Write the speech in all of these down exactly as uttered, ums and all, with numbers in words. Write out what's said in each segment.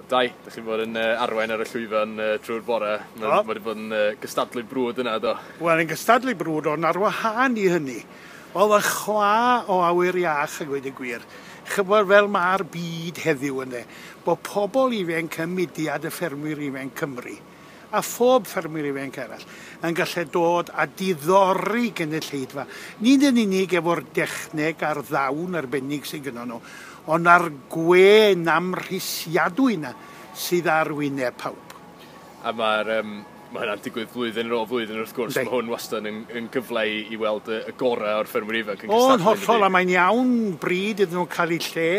Dai, ydych chi'n bod yn uh, arwain ar y llwyfan uh, trwy'r bore. Mae wedi bod yn uh, gystadlu brwd yna, do? Wel, yn gystadlu brwd, ond ar wahân i hynny, oedd y chwa o awyr iach a gweud y gwir. Chybod fel mae'r byd heddiw ynddo, bod pobl ifanc ym mudiad y ffermwyr ifanc Cymru, a phob ffermwyr ifanc arall, yn gallu dod a diddori gynulleidfa. Nid yn unig efo'r dechneg a'r ddawn arbennig sydd gynnon nhw, ond ar gwên amhrisiadwy yna sydd ar wyneb pawb. A mae'r um, mae hynna'n digwydd flwyddyn ar ôl flwyddyn wrth gwrs. Mae hwn wastad yn, yn gyfle i, i weld y, y gorau o'r ffermwyr ifanc yn cystadlu. O'n hollol, a mae'n iawn bryd iddyn nhw cael eu lle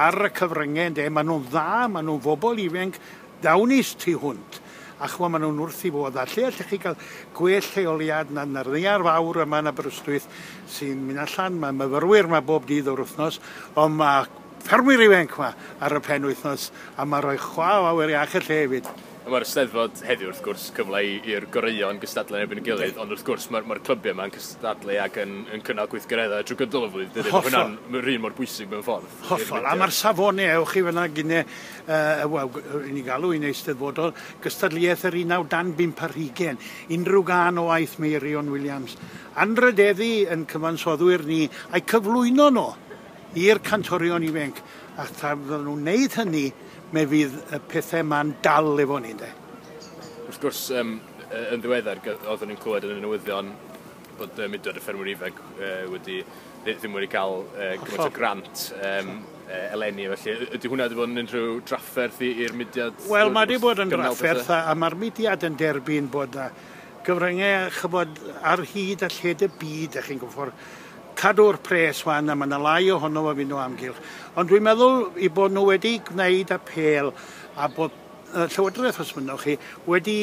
ar y cyfryngau, ynde. Maen nhw'n dda, maen nhw'n bobl ifanc dawnus tu hwnt. A chwa, maen nhw'n wrth i fod. A lle allech chi gael gwell lleoliad na, na'r ddaear fawr yma yn Aberystwyth sy'n mynd allan. Mae myfyrwyr yma bob dydd o'r wythnos, ond mae ffermwyr ifanc yma ar y pen wythnos, a mae rhoi chwa o awyr iach y lle hefyd. Mae'r Eisteddfod heddiw wrth gwrs cyfle i'r goreuon gystadlu yn erbyn y gilydd, ond wrth gwrs mae'r mae clybiau yma'n cystadlu ac yn, yn cynnal gweithgareddau trwy gydol y flwyddyn. Mae hwnna'n yr un mor bwysig mewn ffordd. Hollol, a mae'r safonau, ewch chi fyna gynne, uh, wel, i ni galw un eisteddfodol, gystadleuaeth yr unawd dan bump ar hugain, unrhyw gân o waith Meirion Williams. Anrhydeddu yn cyfansoddwyr ni, a'i cyflwyno nhw i'r cantorion ifanc, a tra fydden nhw'n wneud hynny, me fydd y pethau ma'n dal efo ni, de. Wrth gwrs, um, yn ddiweddar, oeddwn ni'n clywed yn y newyddion bod uh, mudiad y ffermwyr ifanc uh, wedi, ddim wedi cael uh, gymaint o grant um, uh, eleni, felly ydy hwnna wedi bod yn unrhyw drafferth i'r mudiad? Wel, mae wedi bod yn drafferth, a, a mae'r mudiad yn derbyn bod uh, gyfryngau, chybod, ar hyd a lled y byd, ych chi'n gwybod, cadw'r pres wan, a mae yna lai ohono fo fynd o amgylch. Ond dwi'n meddwl i bod nhw wedi gwneud apêl a bod y Llywodraeth, os mynnwch chi, wedi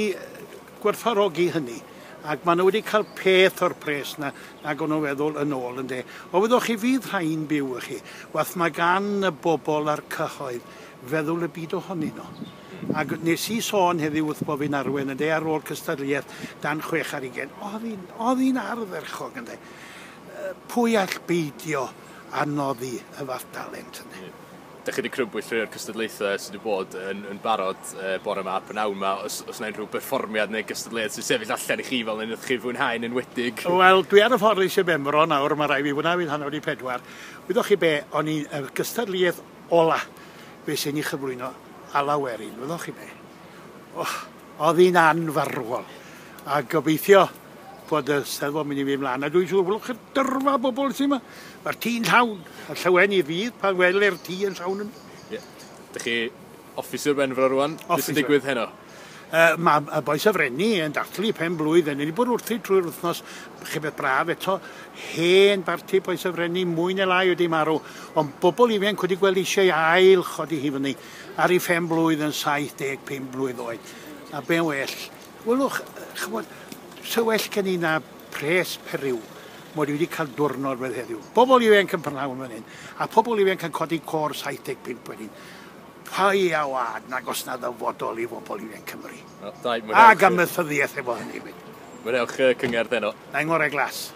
gwerthfawrogi hynny. Ac maen nhw wedi cael peth o'r pres na, nag o'n nhw'n feddwl yn ôl, ynde. O fyddwch chi fydd rhain byw i chi, wath mae gan y bobl a'r cyhoedd feddwl y byd ohonyn nhw. Ac nes i sôn heddiw wrth bod fi'n arwain, ynde, ar ôl cystadleuaeth dan chwech ar ugain. Oedd hi'n ardderchog, ynde. Pwy all beidio a noddi y fath dalent yna? Dych chi wedi crybwyll rhai o'r cystadlaethau sydd wedi bod yn, yn barod e, bore yma, pnawn yma. Os, os yna unrhyw berfformiad neu gystadleuaeth sy'n sefyll allan i chi fel un chi fwynhau'n enwedig? Wel, dwi ar y ffordd i Sir Benfro nawr, mae rhaid fi fwynhau fi'n hanner wedi pedwar. Wyddoch chi be, o'n i y gystadleuaeth ola fe sy'n ei chyflwyno Alaw Werin, wyddoch chi be? Oh, oedd hi'n anfarwol. A gobeithio bod y Steddfod mynd i fynd mlaen. A dwi'n siŵr, welwch chi'r dyrfa bobl sy'n yma. Mae'r tŷ'n llawn, a llawen i fydd pan welir tŷ yn llawn. Ie. Yeah. Dych chi off i Sir Benfro rwan? Beth sy'n digwydd heno? Uh, mae y bois y Frenni yn dathlu pen blwydd. Ni wedi bod wrthi trwy'r wythnos, chi beth braf eto, hen barti bois y Frenni, mwy neu lai wedi marw. Ond bobl ifanc wedi gweld eisiau ail chodi hi fyny ar ei phen blwydd yn saith deg pump blwydd oed. A be'n well. Welwch, chybod, so well gen i na pres periw, mod i wedi cael diwrnod fel heddiw. Bobl ifanc yn prynhawn fan hyn, a pobl ifanc yn codi côr saith deg pump wedyn. Pai a wad nag os na ddyfodol i bobl ifanc Cymru. Well, dai, Ac amaethyddiaeth efo hynny hefyd. Mwynhewch cyngerdd heno. Na'i ngorau glas.